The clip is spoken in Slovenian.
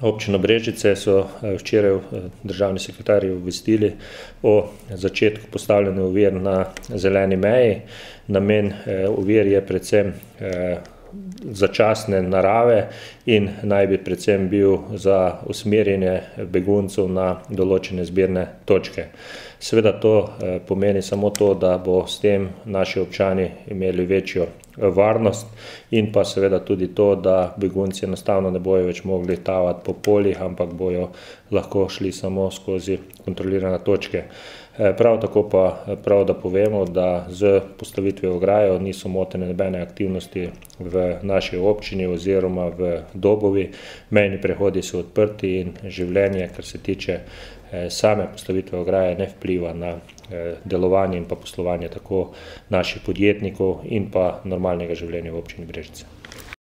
Občino Brežice so včeraj državni sekretarji obvestili o začetku postavljanja ovir na zeleni meji. Namen ovir je predvsem začasne narave in naj bi predvsem bil za usmerjanje beguncev na določene zbirne točke. Seveda to pomeni samo to, da bo s tem naši občani imeli večjo varnost in pa seveda tudi to, da begunci enostavno ne bojo več mogli tavati po poljih, ampak bojo lahko šli samo skozi kontrolirane točke. Prav tako pa prav, da povemo, da z postavitvijo ograje niso motene nobene aktivnosti v naši občini oziroma v Dobovi. Mejni prehodi so odprti in življenje, kar se tiče same postavitve ograje, ne vpliva na delovanje in pa poslovanje tako naših podjetnikov in pa normalnega življenja v občini Brežice.